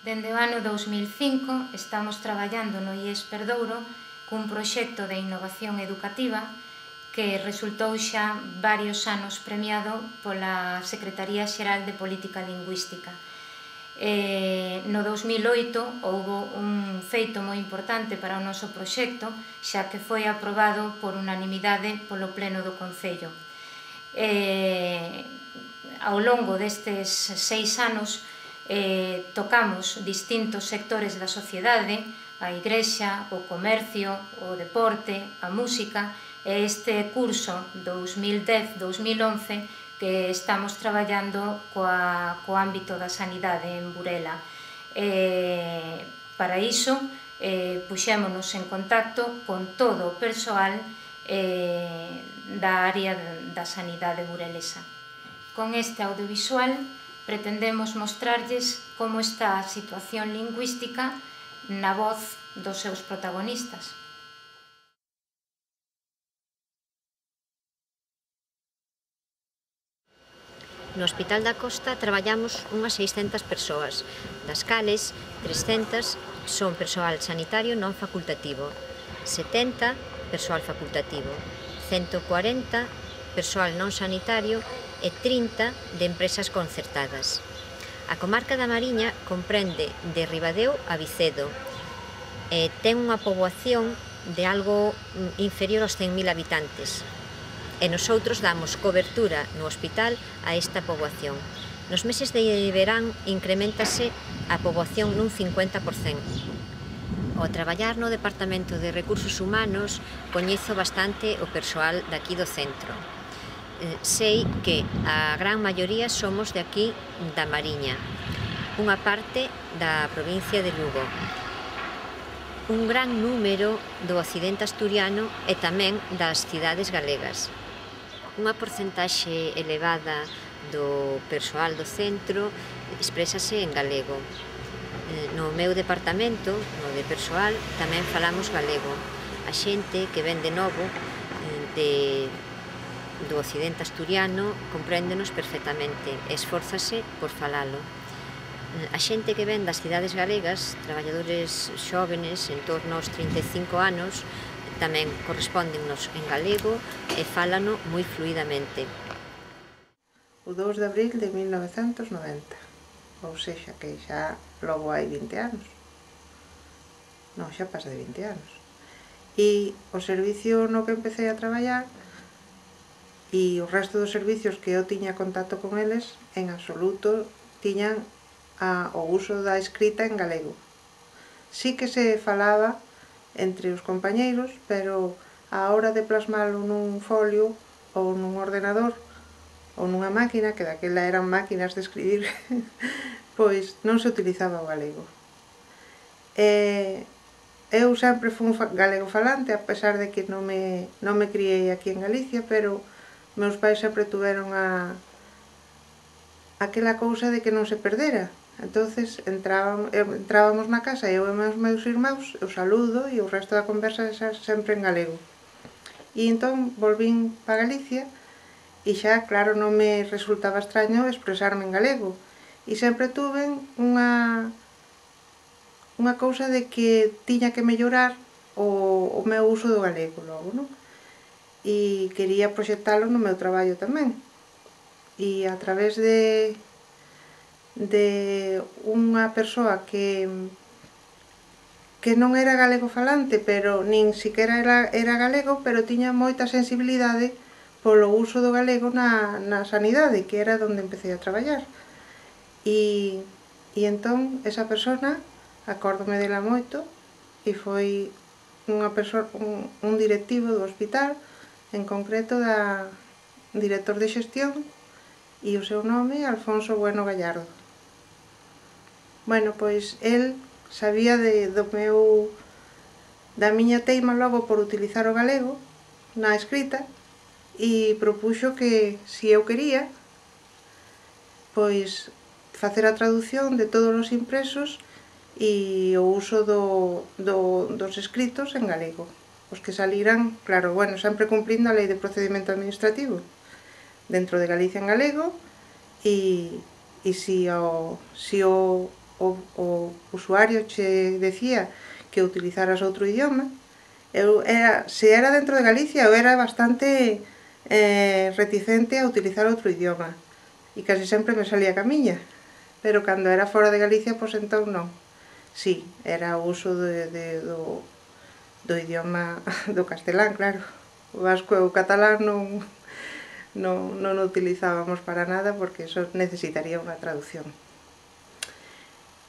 Dende o ano 2005 estamos traballando no IES Perdouro cun proxecto de innovación educativa que resultou xa varios anos premiado pola Secretaría Xeral de Política Lingüística. No 2008 houbo un feito moi importante para o noso proxecto, xa que foi aprobado por unanimidade polo Pleno do Concello. Ao longo destes 6 anos tocamos distintos sectores da sociedade, a igrexa, o comercio, o deporte, a música, e este curso 2010-2011 que estamos traballando co ámbito da sanidade en Burela. Para iso, puxémonos en contacto con todo o persoal da área da sanidade burelesa. Con este audiovisual pretendemos mostrarlles como está a situación lingüística na voz dos seus protagonistas. No Hospital da Costa traballamos unhas 600 persoas, das cales 300 son persoal sanitario non facultativo, 70 persoal facultativo, 140 persoal non sanitario e 30 de empresas concertadas. A comarca da Mariña comprende de Ribadeo a Vicedo e ten unha poboación de algo inferior aos 100.000 habitantes. E nosoutros damos cobertura no hospital a esta poboación. Nos meses de verán increméntase a poboación nun 50%. Ao traballar no Departamento de Recursos Humanos coñezo bastante o persoal daqui do centro. Sei que a gran maioría somos de aquí da Mariña, unha parte da provincia de Lugo. Un gran número do occidente asturiano e tamén das cidades galegas. Unha porcentaxe elevada do persoal do centro exprésase en galego. No meu departamento, no de persoal, tamén falamos galego. A xente que ven de novo do occidente asturiano compréndenos perfectamente e esfórzase por falalo. A xente que ven das cidades galegas, traballadores xóvenes en torno aos 35 anos, tamén correspóndennos en galego e fálano moi fluidamente. O 2 de abril de 1990, ou sexa, que xa logo hai 20 anos. Non, xa pasa de 20 anos. E o servicio no que empecé a traballar e o resto dos servicios que eu tiña contacto con eles, en absoluto tiñan o uso da escrita en galego. Sí que se falaba entre os compañeiros, pero a hora de plasmalo nun folio ou nun ordenador ou nunha máquina, que daquela eran máquinas de escribir, pois non se utilizaba o galego. Eu sempre fui galego falante, a pesar de que non me criei aquí en Galicia, pero meus pais sempre tuveron aquela cousa de que non se perdera. Entonces entrábamos na casa, eu e meus irmãos, o saludo e o resto da conversa sempre en galego. E entón volvín para Galicia e xa, claro, non me resultaba extraño expresarme en galego. E sempre tuve unha cousa de que tiña que mellorar o meu uso do galego logo, non? E quería proxectalo no meu traballo tamén. E a través de unha persoa que non era galego falante, pero nin siquiera era galego, pero tiña moita sensibilidade polo uso do galego na sanidade, que era onde empecé a traballar. E entón, esa persona, acórdome dela moito, e foi un directivo do hospital, en concreto da director de xestión, e o seu nome Alfonso Bueno Gallardo. Bueno, pois el sabía da miña teima logo por utilizar o galego na escrita e propuxo que, se eu quería, pois facer a traducción de todos os impresos e o uso dos escritos en galego. Os que saliran, claro, bueno, sempre cumplindo a Lei de Procedimento Administrativo, dentro de Galicia en galego, e se o o usuario che decía que utilizaras outro idioma, se era dentro de Galicia, eu era bastante reticente a utilizar outro idioma, e casi sempre me salía a miña, pero cando era fora de Galicia, pois entón non. Sí, era o uso do idioma do castelán, claro. O vasco e o catalán non o utilizábamos para nada porque eso necesitaría unha traducción.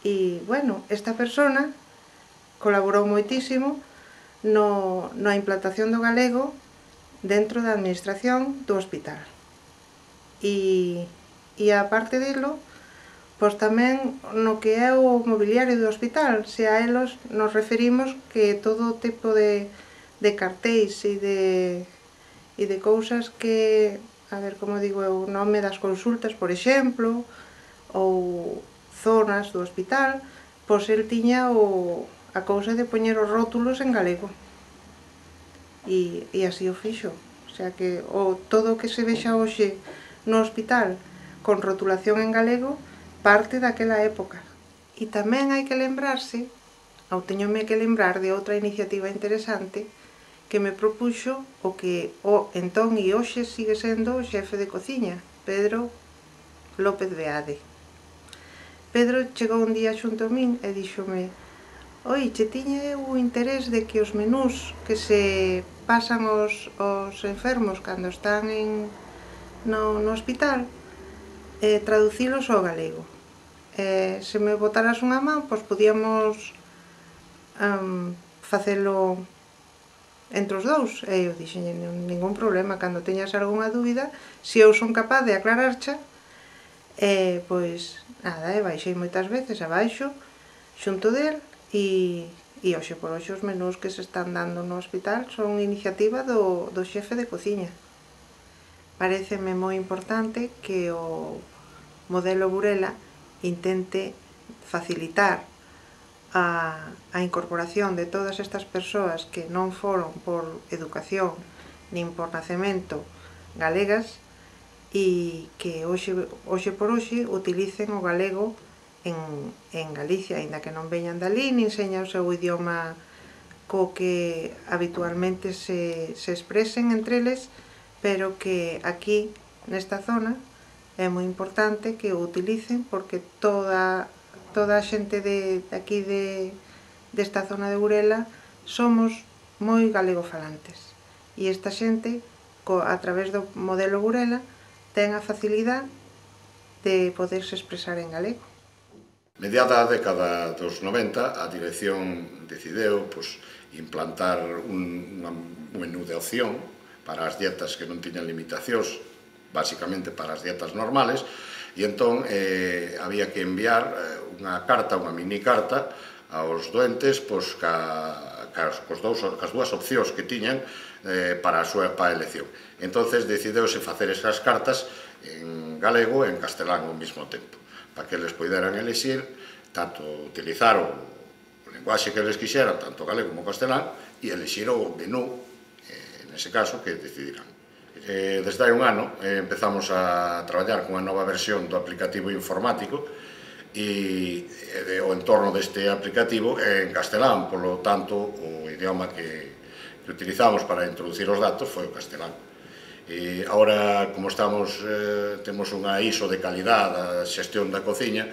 E, bueno, esta persona colaborou moitísimo na implantación do galego dentro da administración do hospital. E aparte delo, pois tamén no que é o mobiliario do hospital, se a elos nos referimos que todo tipo de cartéis e de cousas que, a ver como digo eu, o nome das consultas, por exemplo, ou zonas do hospital, pois el tiña a cousa de poñer os rótulos en galego. E así o fixo. O sea que todo o que se vexa hoxe no hospital con rotulación en galego parte daquela época. E tamén hai que lembrarse, ou teñome que lembrar de outra iniciativa interesante que me propuxo o que entón e hoxe sigue sendo o xefe de cociña, Pedro López Beade. Pedro chegou un día xunto a min e díxome: «Oi, che tiña eu o interés de que os menús que se pasan os enfermos cando están no hospital traducilos ao galego. Se me botaras unha man, pois podíamos facelo entre os dous». E eu dixenlle: «Ningún problema, cando teñas algunha dúbida, se eu son capaz de aclararcha». Pois nada, baixei moitas veces abaixo xunto del e hoxe por hoxe os menús que se están dando no hospital son iniciativa do xefe de cociña. Paréceme moi importante que o modelo Burela intente facilitar a incorporación de todas estas persoas que non foron por educación nin por nacemento galegas e que hoxe por hoxe utilicen o galego en Galicia, aínda que non veñan dali, nin seña o seu idioma co que habitualmente se expresen entre eles, pero que aquí, nesta zona, é moi importante que o utilicen porque toda a xente de aquí desta zona de Burela somos moi galegofalantes. E esta xente, a través do modelo Burela, ten a facilidade de poderse expresar en galego. Mediada a década dos 90, a dirección decideu implantar un menú de opción para as dietas que non tiñan limitacións, basicamente para as dietas normales, e entón había que enviar unha carta, unha mini carta, aos doentes cas dúas opcións que tiñan para a súa elección. Entonces decideuse facer esas cartas en galego e en castelán ao mesmo tempo, para que eles poideran elixir, tanto utilizar o linguaxe que eles quixeran, tanto galego como castelán, e elixir o menú, nese caso, que decidirán. Desde hai un ano empezamos a traballar con unha nova versión do aplicativo informático e o entorno deste aplicativo é en castelán, polo tanto, o idioma que utilizamos para introducir os datos foi o castelán. E agora, como temos unha ISO de calidad da xestión da cociña,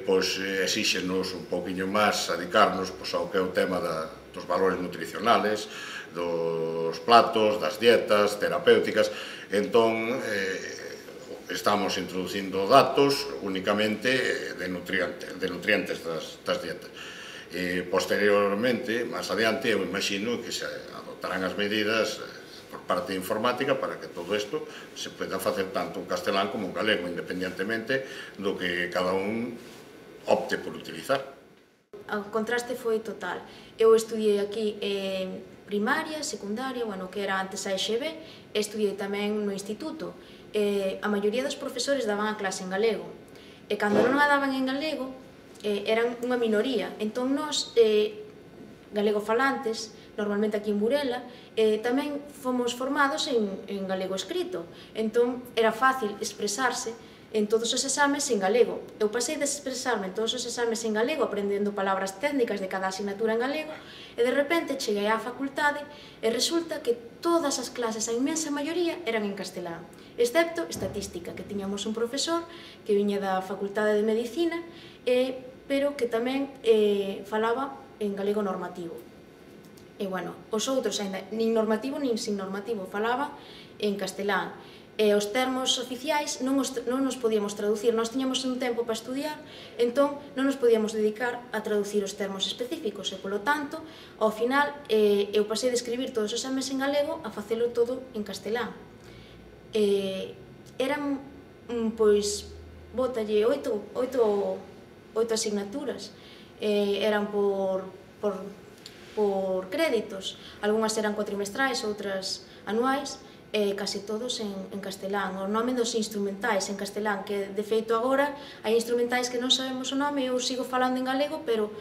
pois exíxenos un pouquiño máis dedicarnos ao que é o tema dos valores nutricionales, dos platos, das dietas terapéuticas. Entón, estamos introducindo datos únicamente de nutrientes das dietas. Posteriormente, máis adiante, eu imagino que se adoptarán as medidas por parte informática para que todo isto se poida facer tanto en castelán como en galego, independentemente do que cada un opte por utilizar. O contraste foi total. Eu estudiei aquí primaria, secundaria, que era antes a EXB, e estudiei tamén no instituto. A maioría dos profesores daban a clase en galego, e cando non a daban en galego, eran unha minoría. Entón, nós, galegofalantes, normalmente aquí en Burela, tamén fomos formados en galego escrito. Entón, era fácil expresarse en todos os exames en galego. Eu pasei de expresarme en todos os exames en galego, aprendendo palabras técnicas de cada asignatura en galego, e de repente cheguei á facultade e resulta que todas as clases, a inmensa maioría, eran en castelán, excepto estatística, que tiñamos un profesor que viña da Facultade de Medicina, pero que tamén falaba en galego normativo. E, bueno, os outros, ainda, nin normativo nin sin normativo, falaba en castelán. E os termos oficiais non nos podíamos traducir, nós tiñamos un tempo para estudiar, entón non nos podíamos dedicar a traducir os termos específicos, e, polo tanto, ao final, eu pasei de escribir todos os exames en galego a facelo todo en castelán. Eran, pois, bótalle 8 asignaturas, eran por créditos, algunhas eran cuatrimestrais, outras anuais, casi todos en castelán. O nome dos instrumentais en castelán, que de feito agora hai instrumentais que non sabemos o nome, eu sigo falando en galego, pero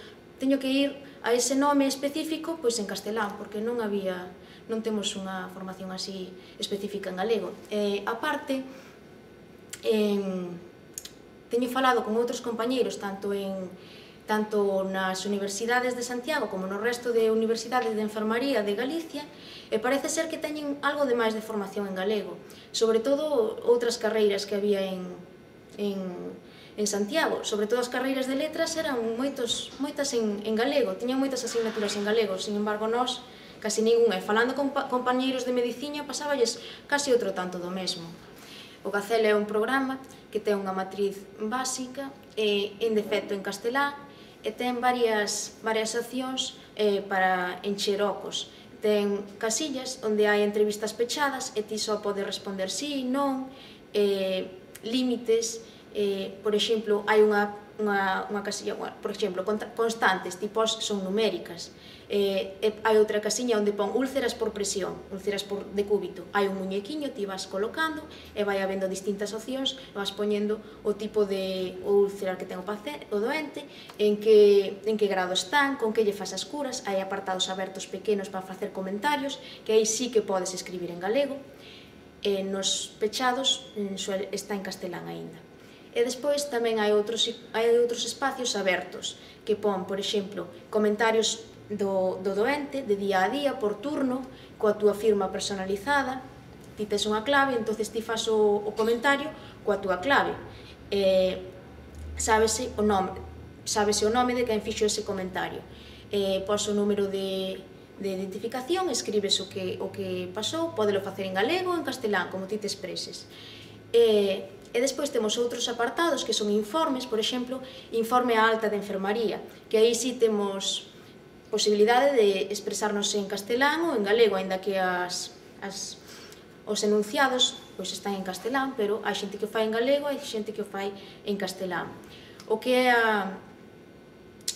teño que ir a ese nome específico pois en castelán, porque non temos unha formación así específica en galego. A parte, teño falado con outros compañeiros, tanto nas universidades de Santiago como no resto de universidades de enfermaría de Galicia, e parece ser que teñen algo de máis de formación en galego, sobre todo outras carreiras que había en Santiago, sobre todo as carreiras de letras eran moitas en galego, tiñan moitas asignaturas en galego, sin embargo nós casi ninguna, e falando con compañeiros de medicina pasáballes casi outro tanto do mesmo. O Gacela é un programa que ten unha matriz básica en defecto en castelán, e ten varias opcións para encher ocos. Ten casillas onde hai entrevistas pechadas e ti só podes responder sí, non, límites, por exemplo, hai unha casilla, por exemplo, constantes, tipos son numéricas. Hai outra casiña onde pon úlceras por presión, úlceras por decúbito. Hai un muñequiño, ti vas colocando e vai habendo distintas opcións, e vas poñendo o tipo de úlcera que ten o doente, en que grado están, con que lle fas as curas. Hai apartados abertos pequenos para facer comentarios, que aí sí que podes escribir en galego. Nos pechados está en castelán aínda. E despois tamén hai outros espacios abertos, que pon, por exemplo, comentarios do doente, de día a día, por turno, coa túa firma personalizada. Ti tes unha clave, entonces ti fas o comentario coa túa clave. Sábese o nome de quen fixo ese comentario. Pos o número de identificación, escribes o que pasou, podelo facer en galego ou en castelán, como ti te expreses. E despois temos outros apartados que son informes, por exemplo, informe á alta de enfermaría, que aí sí temos posibilidade de expresarnos en castelán ou en galego, aínda que os enunciados pois están en castelán, pero hai xente que o fai en galego e hai xente que o fai en castelán. O que é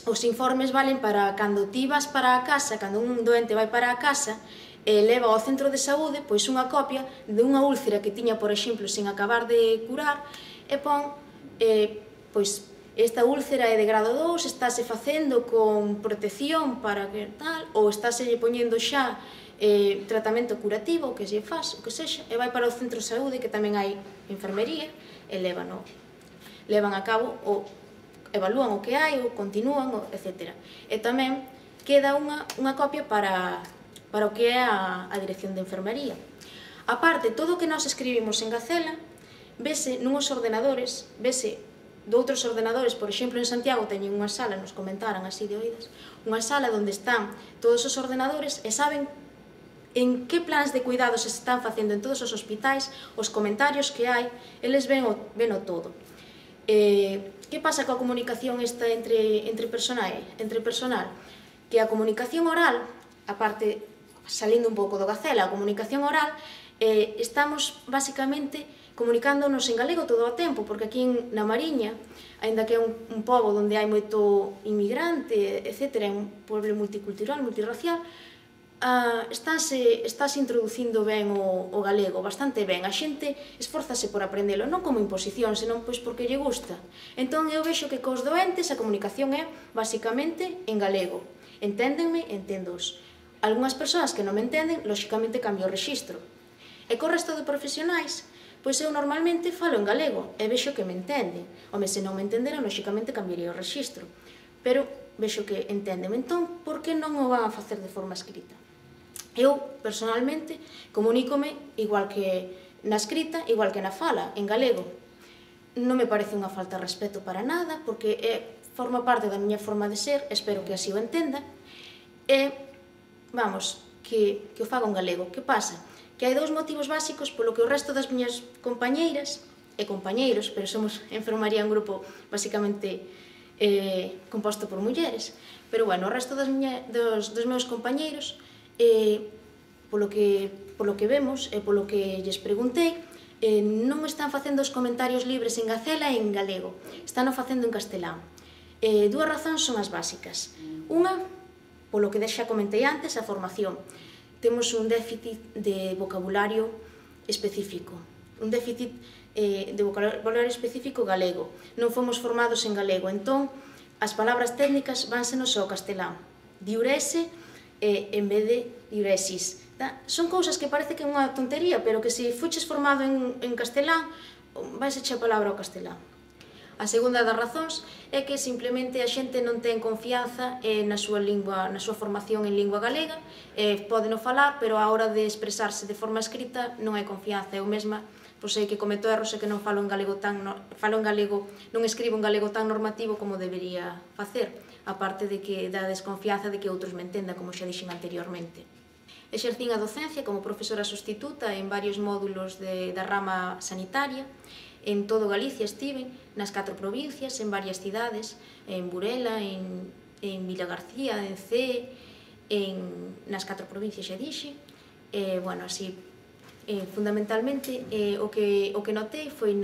os informes valen para cando ti vas para a casa, cando un doente vai para a casa, leva ao centro de saúde pois unha copia de unha úlcera que tiña, por exemplo, sen acabar de curar, e pon pois esta úlcera é de grado 2, estáse facendo con protección para que tal, ou estáse poñendo xa tratamento curativo, o que se faz, o que sexa, e vai para o centro de saúde, que tamén hai enfermería, e levan a cabo, ou evalúan o que hai, ou continúan, etc. E tamén queda unha copia para o que é a dirección de enfermería. A parte, todo o que nós escribimos en Gacela, vese nuns ordenadores, vese de outros ordenadores. Por exemplo, en Santiago teñen unha sala, nos comentaran así de oídas, unha sala onde están todos os ordenadores e saben en que plans de cuidados se están facendo en todos os hospitais, os comentarios que hai, eles ven o todo. Que pasa coa comunicación esta entre personal? Que a comunicación oral, aparte, salindo un pouco do Gacela, a comunicación oral, estamos basicamente comunicándonos en galego todo o tempo, porque aquí na Mariña, aínda que é un pobo onde hai moito inmigrante, etc., é un pueblo multicultural, multirracial, estáse introducindo ben o galego, bastante ben. A xente esforzase por aprendelo, non como imposición, senón pois porque lle gusta. Entón eu vexo que cos doentes a comunicación é basicamente en galego. Enténdenme, enténdoos. Algúnas persoas que non me entenden, lóxicamente cambio o rexistro. E co resto de profesionais, Pois eu normalmente falo en galego e vexo que me entenden. Home, se non me entenderan, lóxicamente cambiaría o rexistro. Pero vexo que entenden. Entón, por que non o van a facer de forma escrita? Eu, personalmente, comunícome igual que na escrita, igual que na fala, en galego. Non me parece unha falta de respeto para nada, porque forma parte da miña forma de ser, espero que así o entenda, e, vamos, que o fago en galego. Que pasa? Que hai dous motivos básicos polo que o resto das miñas compañeiras e compañeiros, pero somos enfermaría un grupo basicamente composto por mulleres, pero bueno, o resto dos meus compañeiros, polo que vemos e polo que lles preguntei, non están facendo os comentarios libres en gacela e en galego, están o facendo en castelán. Dúas razóns son as básicas. Unha, polo que xa comentei antes, a formación. Temos un déficit de vocabulario específico, un déficit de vocabulario específico galego. Non fomos formados en galego, entón as palabras técnicas vánsenos ao castelán. Diurese en vez de diuresis. Son cousas que parece que é unha tontería, pero que se fuches formado en castelán, vais echar a palabra ao castelán. A segunda das razóns é que simplemente a xente non ten confianza na súa formación en lingua galega, pódeno falar, pero a hora de expresarse de forma escrita non hai confianza. Eu mesma sei que cometo erros e que non falo en galego, non escribo en galego tan normativo como debería facer, aparte da desconfianza de que outros me entendan, como xa dixen anteriormente. Exercín a docencia como profesora sustituta en varios módulos da rama sanitaria. En todo Galicia estiven, nas 4 provincias, en varias cidades, en Burela, en Vilagarcía, en Cee, nas 4 provincias xa dixe. Bueno, así, fundamentalmente, o que notei foi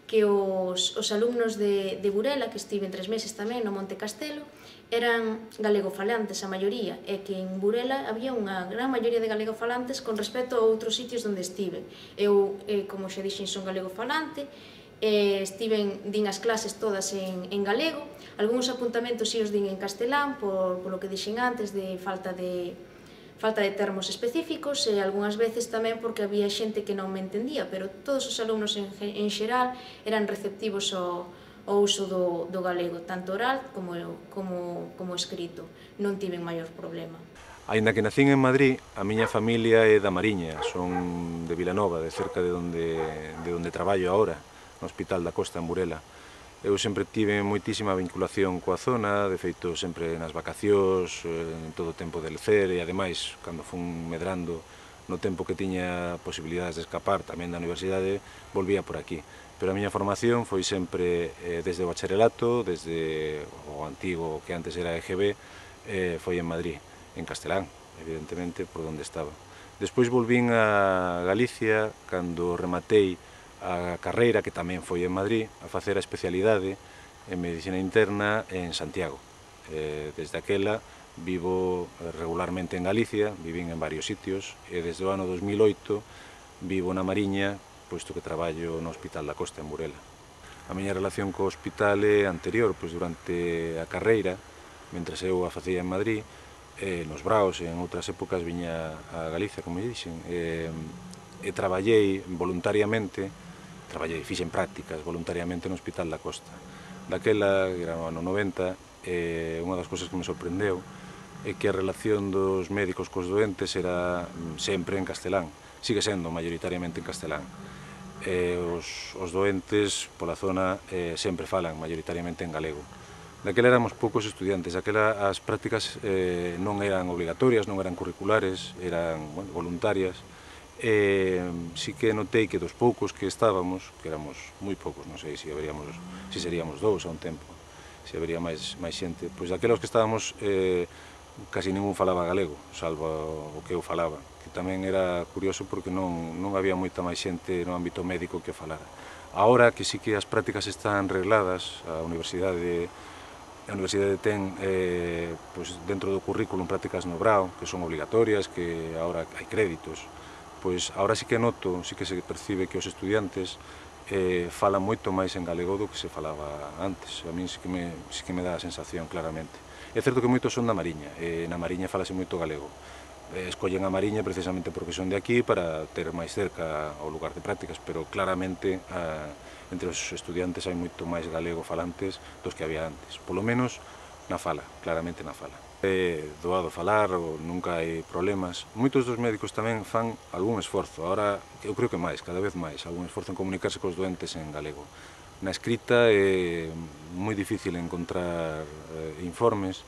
que os alumnos de Burela, que estiven 3 meses tamén no Monte Castelo, eran galegofalantes a maioría, e que en Burela había unha gran maioría de galegofalantes con respecto a outros sitios onde estiven. Eu, como xa dixen, son galegofalante, din as clases todas en galego, algúns apuntamentos si os din en castelán, polo que dixen antes, de falta de termos específicos, e algunhas veces tamén porque había xente que non me entendía, pero todos os alumnos en xeral eran receptivos ao uso do galego, tanto oral como escrito. Non tiven maior problema. Aínda que nacín en Madrid, a miña familia é da Mariña, son de Vilanova, de cerca de onde traballo agora, no Hospital da Costa, en Burela. Eu sempre tive moitísima vinculación coa zona, de feito sempre nas vacacións, en todo o tempo de lecer, e ademais, cando fun medrando, no tempo que tiña posibilidades de escapar tamén da universidade, volvía por aquí. Pero a miña formación foi sempre desde o bacharelato, desde o antigo que antes era EGB, foi en Madrid, en castelán, evidentemente, por onde estaba. Despois volvín a Galicia, cando rematei a carreira, que tamén foi en Madrid, a facer a especialidade en Medicina Interna en Santiago. Desde aquela vivo regularmente en Galicia, vivín en varios sitios, e desde o ano 2008 vivo na Mariña, posto que traballo no Hospital da Costa, en Burela. A miña relación co hospital é anterior, pois durante a carreira, mentres eu a facía en Madrid, nos Braos e en outras épocas viña a Galicia, como dixen, e traballei voluntariamente, fixen prácticas voluntariamente no Hospital da Costa. Daquela, era no ano 90, unha das cousas que me sorprendeu é que a relación dos médicos cos doentes era sempre en castelán, sigue sendo maioritariamente en castelán. Os doentes pola zona sempre falan maioritariamente en galego. Daquela éramos poucos estudiantes, daquela as prácticas non eran obligatorias, non eran curriculares, eran voluntarias. Sí que notei que dos poucos que estábamos, que éramos moi poucos, non sei se seríamos 2 a un tempo, se habería máis xente, pois daquelas que estábamos casi ningún falaba galego, salvo o que eu falaba, que tamén era curioso porque non había moita máis xente no ámbito médico que falara. Agora que sí que as prácticas están regladas, a universidade ten dentro do currículum prácticas no Brao, que son obligatorias, que agora hai créditos, pois agora sí que noto, sí que se percibe que os estudiantes falan moito máis en galego do que se falaba antes. A mí sí que me dá a sensación claramente. É certo que moitos son da Mariña, e na Mariña falase moito galego, escollen a Mariña precisamente porque son de aquí para ter máis cerca o lugar de prácticas, pero claramente entre os estudiantes hai moito máis galego falantes dos que había antes, polo menos na fala, claramente na fala. É doado falar, nunca hai problemas. Moitos dos médicos tamén fan algún esforzo, ahora eu creo que máis, cada vez máis, algún esforzo en comunicarse cos doentes en galego. Na escrita é moi difícil encontrar informes,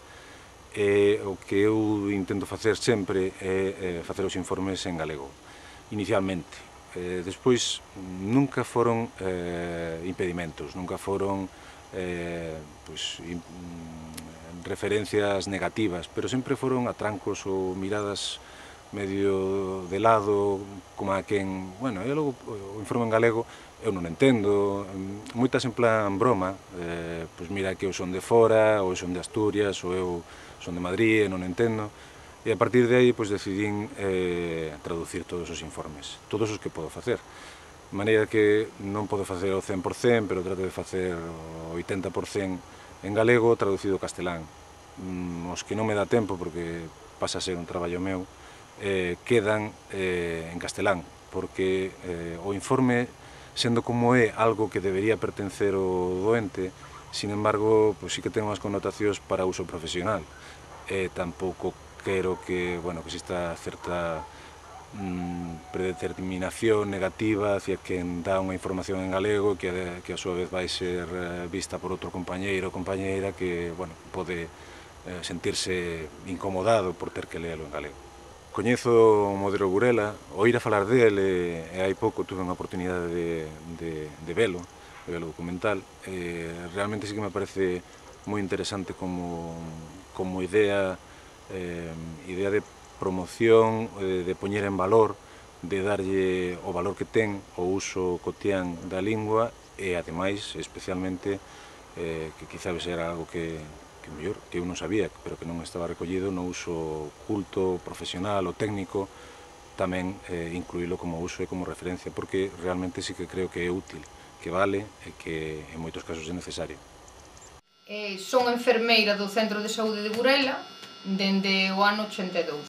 e o que eu intento facer sempre é facer os informes en galego, inicialmente. Despois, nunca foron impedimentos, nunca foron referencias negativas, pero sempre foron atrancos ou miradas medio de lado, como a quen, bueno, e logo o informe en galego eu non entendo, moitas en plan broma, pois mira que eu son de fora, ou son de Asturias, ou eu son de Madrid e non entendo, e a partir de aí pois decidín traducir todos os informes, todos os que podo facer. De maneira que non podo facer o 100%, pero trato de facer o 80% en galego traducido ao castelán. Os que non me dá tempo, porque pasa a ser un traballo meu, quedan en castelán, porque o informe, sendo como é algo que debería pertencer ao doente, sin embargo, pois sí que ten unhas connotacións para uso profesional. Tampouco quero que, bueno, que exista certa predeterminación negativa hacia quen dá unha información en galego que a súa vez vai ser vista por outro compañeiro ou compañeira que, bueno, pode sentirse incomodado por ter que lelo en galego. Coñezo o modelo Burela, oír a falar dele, e hai pouco tuve unha oportunidade de velo documental. Realmente sí que me parece moi interesante como idea de promoción, de poñer en valor, de darlle o valor que ten o uso cotián da lingua e, ademais, especialmente, que quizá era algo que eu non sabía, pero que non estaba recollido no uso culto, profesional ou técnico, tamén incluílo como uso e como referencia, porque realmente sí que creo que é útil, que vale e que en moitos casos é necesario. Son enfermeira do Centro de Saúde de Burela dende o ano 82.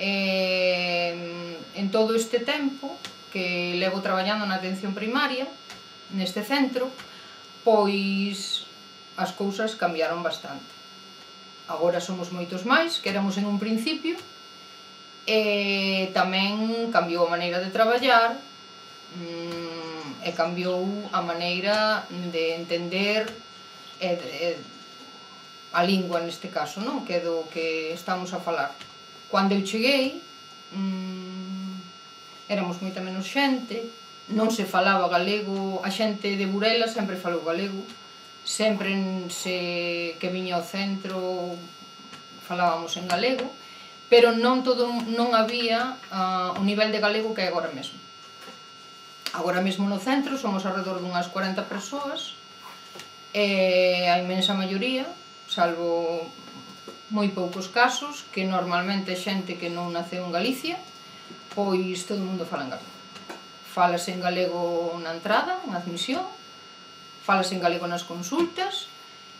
En todo este tempo que levo traballando na atención primaria neste centro, pois as cousas cambiaron bastante. Agora somos moitos máis que éramos en un principio, e tamén cambiou a maneira de traballar e cambiou a maneira de entender a lingua neste caso, non? Que é do que estamos a falar. Cando eu cheguei, éramos moita menos xente, non se falaba galego, a xente de Burela sempre falou galego, sempre que viña ao centro falábamos en galego, pero non había o nivel de galego que é agora mesmo. Agora mesmo no centro somos alrededor dunhas 40 persoas, e a inmensa maioría, salvo moi poucos casos, que normalmente é xente que non naceu en Galicia, pois todo o mundo fala en galego. Fálase en galego na entrada, na admisión, fálase en galego nas consultas,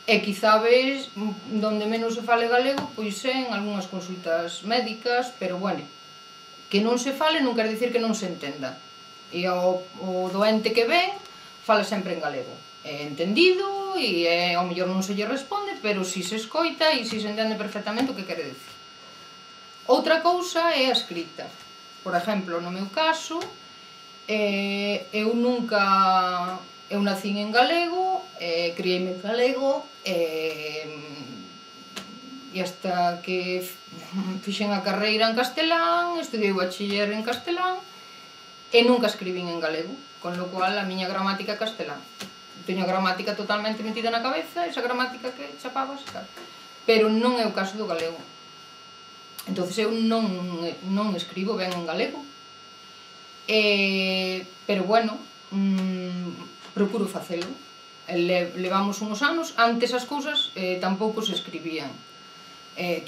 e quizá ves donde menos se fale galego, pois é en algunhas consultas médicas, pero bueno, que non se fale non quer dicir que non se entenda. E o doente que ven fala sempre en galego. É entendido e ao mellor non se lle responde, pero si se escoita e si se entende perfectamente o que quere dicir. Outra cousa é a escrita. Por exemplo, no meu caso, eu nacín en galego, criei-me en galego, e hasta que fixen a carreira en castelán, estudiei o bachiller en castelán, e nunca escribín en galego, con lo cual a miña gramática é castelán. Teño a gramática totalmente metida na cabeza, esa gramática que chapabas, claro. Pero non é o caso do galego. Entón eu non escribo ben en galego. Pero bueno, procuro facelo. Levamos uns anos, antes as cousas tampouco se escribían.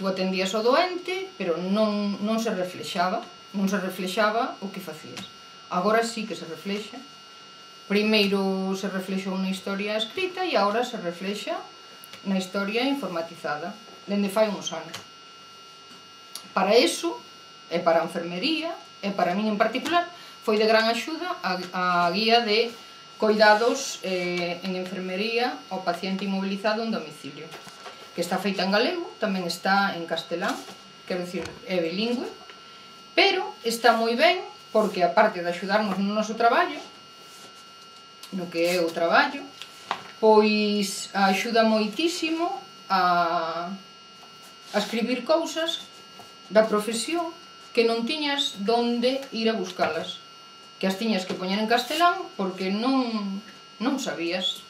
Tú atendías ao doente, pero non se reflexaba o que facías. Agora sí que se reflexa. Primeiro se reflexou na historia escrita e agora se reflexa na historia informatizada, dende fai uns anos. para eso, e para a enfermería, e para min en particular, foi de gran axuda a guía de cuidados en enfermería ao paciente inmobilizado en domicilio, que está feita en galego, tamén está en castelán, quero dicir, é bilingüe, pero está moi ben porque, aparte de axudarnos no noso traballo, no que é o traballo, pois axuda moitísimo a escribir cousas da profesión que non tiñas donde ir a buscalas, que as tiñas que poñer en castelán porque non sabías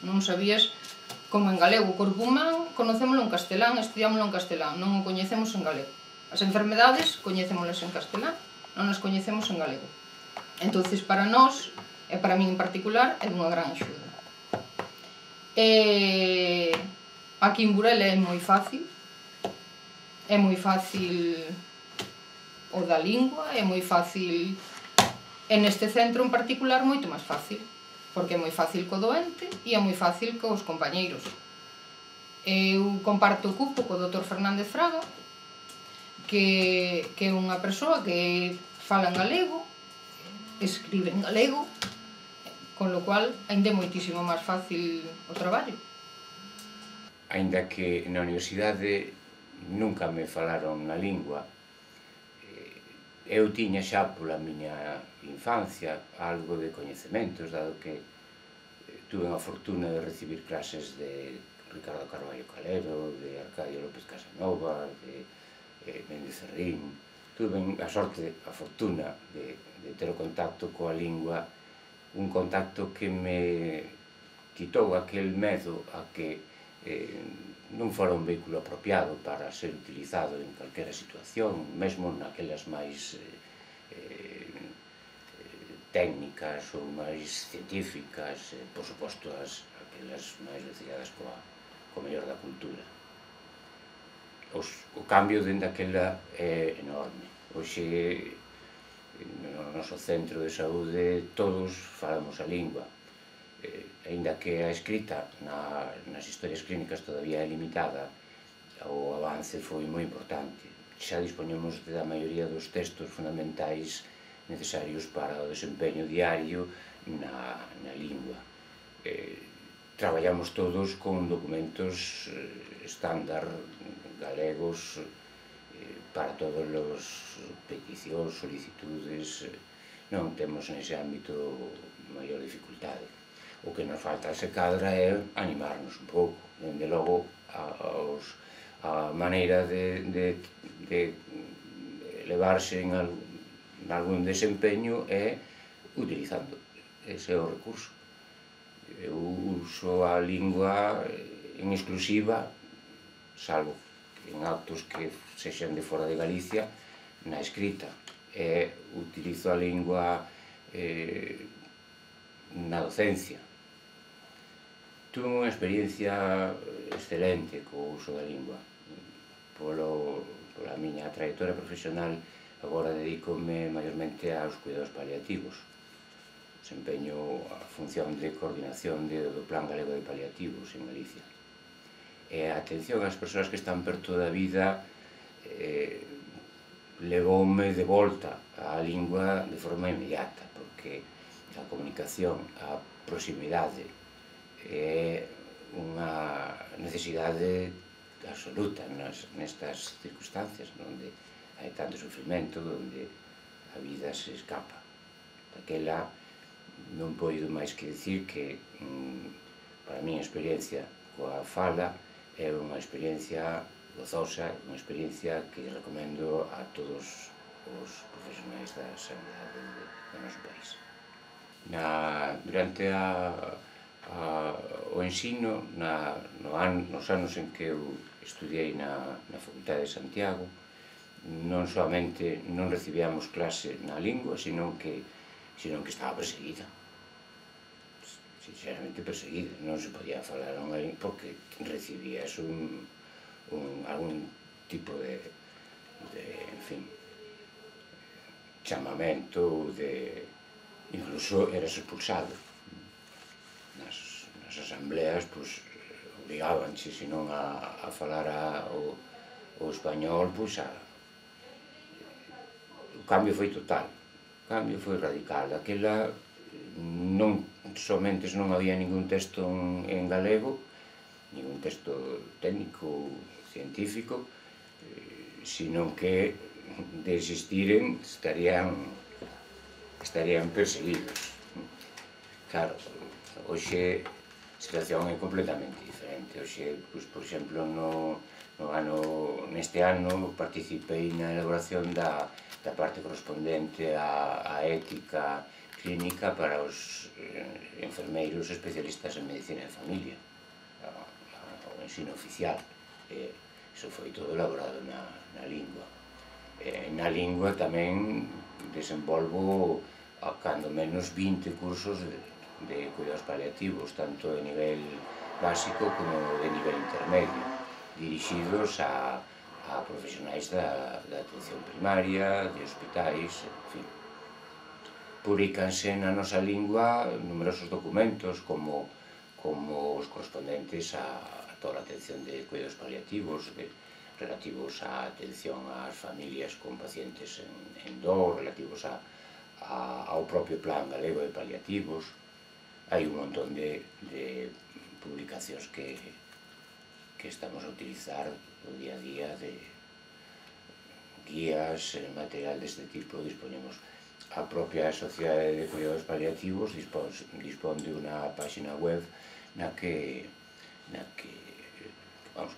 como en galego. O corpo humano conocémolo en castelán, estudiámoslo en castelán, non o coñecemos en galego. As enfermedades coñecémolas en castelán, non as coñecemos en galego. Entonces, para nós, e para min en particular, é dunha gran axuda. Aquí en Burela é moi fácil o da lingua, é moi fácil. E neste centro en particular moito máis fácil, porque é moi fácil co doente e é moi fácil cos compañeiros. Eu comparto o cupo co Dr. Fernández Fraga, que é unha persoa que fala en galego, escribe en galego, con lo cual ainda é moitísimo máis fácil o traballo. Aínda que na universidade nunca me falaron na lingua, eu tiña xa pola miña infancia algo de coñecementos, dado que tuve a fortuna de recibir clases de Ricardo Carballo Calero, de Arcadio López Casanova, de Méndez Serrín. Tuve a sorte, a fortuna de ter o contacto coa lingua, un contacto que me quitou aquel medo a que non fora un vehículo apropiado para ser utilizado en calquera situación, mesmo naquelas máis técnicas ou máis científicas, por suposto aquelas máis ligadas co mellor da cultura. O cambio dende aquela é enorme. Hoxe, no noso centro de saúde, todos falamos a lingua, aínda que a escrita nas historias clínicas todavía é limitada, o avance foi moi importante. Xa dispoñemos da maioría dos textos fundamentais necesarios para o desempeño diario na lingua. Traballamos todos con documentos estándar galegos para todos os peticións, solicitudes. Non temos nese ámbito maior dificultade. O que nos falta se cadra é animarnos un pouco. Dende logo, a maneira de elevarse en algún desempeño é utilizando. Ese é o recurso. Eu uso a lingua en exclusiva, salvo en actos que sexan de fora de Galicia, na escrita. Utilizo a lingua na docencia. Tuve unha experiencia excelente co uso da lingua. Pola miña trayectoria profesional, agora dedícome maiormente aos cuidados paliativos. Desempeño a función de coordinación do Plan Galego de Paliativos en Galicia. E a atención ás persoas que están perto da vida levoume de volta á lingua de forma inmediata, porque a comunicación, a proximidade, é unha necesidade absoluta nestas circunstancias onde hai tanto sufrimento, onde a vida se escapa. Daquela non poido máis que dicir que para a miña experiencia coa fala é unha experiencia gozosa, unha experiencia que recomendo a todos os profesionais da sanidade do noso país. Durante o ensino, nos anos en que eu estudiei na Facultade de Santiago, non soamente non recibíamos clase na lingua, sino que estaba perseguida. Sinceramente perseguida. Non se podía falar unha lingua porque recibías algún tipo de chamamento, incluso eras expulsado. Nas asambleas, obrigábanche, senón a falar o español, a cambio foi total, o cambio foi radical. Aquela non somente non había ningún texto en galego, ningún texto técnico, científico, sino que de existiren estarían perseguidos. Claro, hoxe a situación é completamente diferente. Hoxe, por exemplo, neste ano participei na elaboración da parte correspondente á ética clínica para os enfermeiros especialistas en medicina de familia, o ensino oficial. Iso foi todo elaborado na lingua. Na lingua tamén desenvolvo cando menos 20 cursos de cuidados paliativos, tanto de nivel básico como de nivel intermedio, dirixidos a profesionais da atención primaria, de hospitais, en fin. Publícanse na nosa lingua numerosos documentos como os correspondentes a toda a atención de cuidados paliativos, relativos á atención ás familias con pacientes en dor, relativos ao propio plan galego de paliativos. Hai un montón de publicacións que estamos a utilizar no día a día, de guías, material deste tipo. Disponemos a propia Sociedade de Cuidados Paliativos dispón de unha página web na que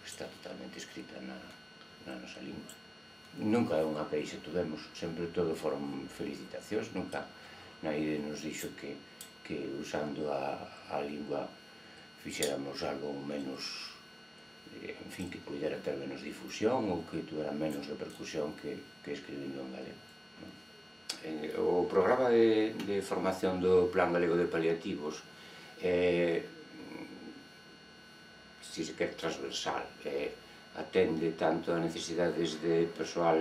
está totalmente escrita na nosa lingua. Nunca unha queixa tuvemos, sempre todo foron felicitacións, nunca naide nos dixo que usando a lingua fixéramos algo menos, en fin, que pudera ter menos difusión ou que tuvera menos repercusión que escribindo en galego. O programa de formación do Plan Galego de Paliativos si se quer transversal, atende tanto a necesidades de persoal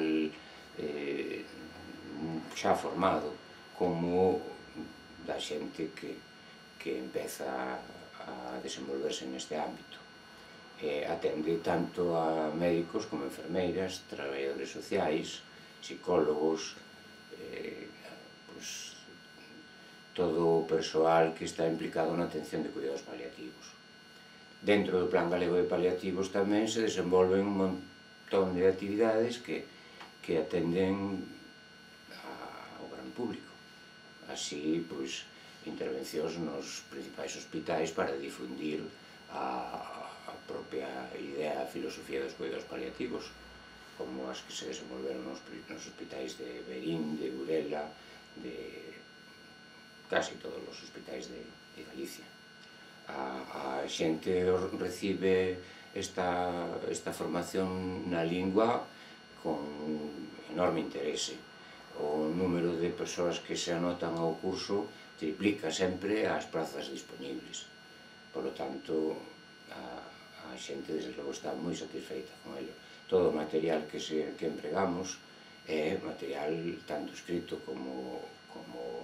xa formado como da xente que empeza a desenvolverse neste ámbito. Atende tanto a médicos como enfermeiras, traballadores sociais, psicólogos, todo o persoal que está implicado na atención de cuidados paliativos. Dentro do Plan Galego de Paliativos tamén se desenvolven un montón de actividades que atenden ao gran público. Así, intervencións nos principais hospitais para difundir a propia idea, a filosofía dos cuidados paliativos, como as que se desenvolveron nos hospitais de Verín, de Burela, de casi todos os hospitais de Galicia. A xente recibe esta formación na lingua con enorme interese. O número de persoas que se anotan ao curso triplica sempre as prazas disponibles. Por lo tanto, a xente, desde logo, está moi satisfeita con ele. Todo o material que empregamos é material tanto escrito como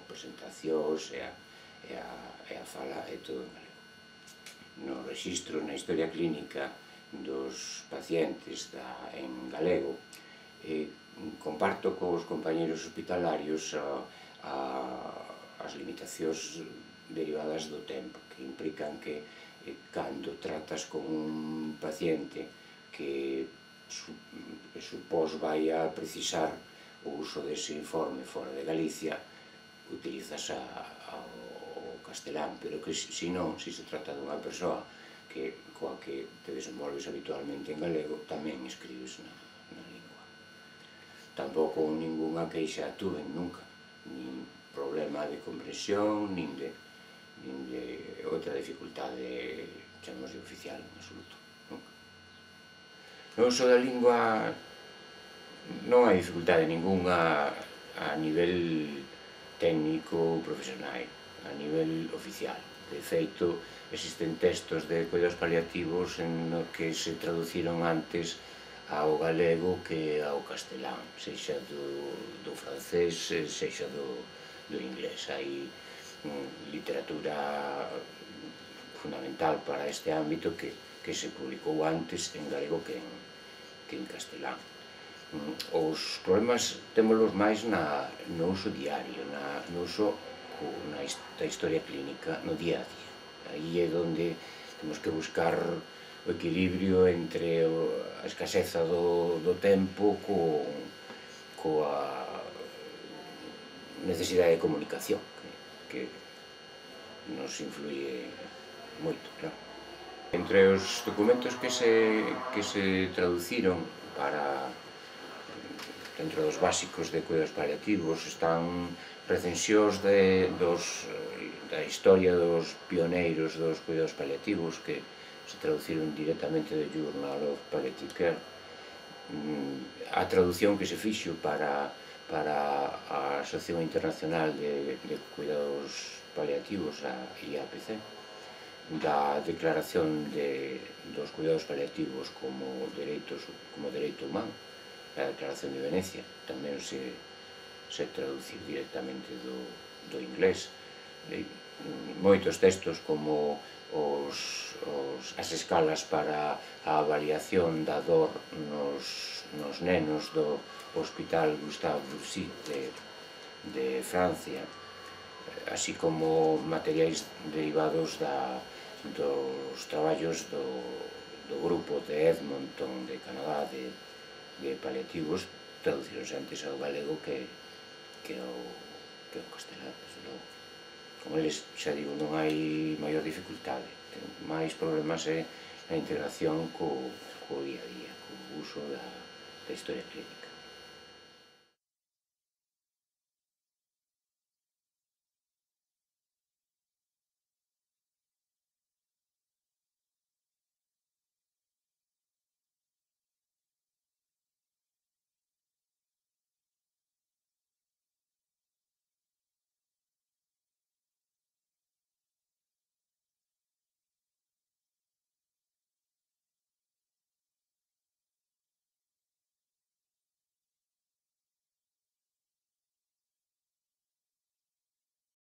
presentacións e a fala é todo en galego. No rexistro, na historia clínica dos pacientes en galego, comparto cos compañeros hospitalarios as limitacións derivadas do tempo, que implican que cando tratas con un paciente que supós vai a precisar o uso dese informe fora de Galicia, utilizas o castelán, pero que se non, se se trata dunha persoa coa que te desenvolves habitualmente en galego, tamén escribes na lingua. Tampouco ningunha queixa tuven nunca, nin problema de comprensión, nin de outra dificultade, chamamos de oficial, en absoluto, nunca. No uso da lingua non hai dificultade ningunha a nivel técnico profesional, a nivel oficial. De feito, existen textos de cuidados paliativos en que se traduciron antes ao galego que ao castelán, sexa do francés, sexa do inglés. Hai literatura fundamental para este ámbito que se publicou antes en galego que en castelán. Os problemas témolos máis no uso diario, no uso da historia clínica no día a día. Aí é onde temos que buscar o equilibrio entre a escaseza do tempo coa necesidade de comunicación que nos influye moito, claro. Entre os documentos que se traduciron dentro dos básicos de cuidados paliativos están recensións da historia dos pioneiros dos cuidados paliativos que se traduciron directamente do Journal of Palliative Care, a traducción que se fixo para a Asociación Internacional de Cuidados Paliativos, a IAPC, da declaración dos cuidados paliativos como dereito humano, a Declaración de Venecia, tamén se traduciu directamente do inglés. Moitos textos como as escalas para a avaliación da dor nos nenos do Hospital Gustave Roussy de Francia, así como materiais derivados dos traballos do grupo de Edmonton de Canadá de paliativos, traducironse antes ao galego que ao castelán, desde logo. Con eles, xa digo, non hai maior dificultade, máis problemas é a integración co día a día, co uso da historia clínica.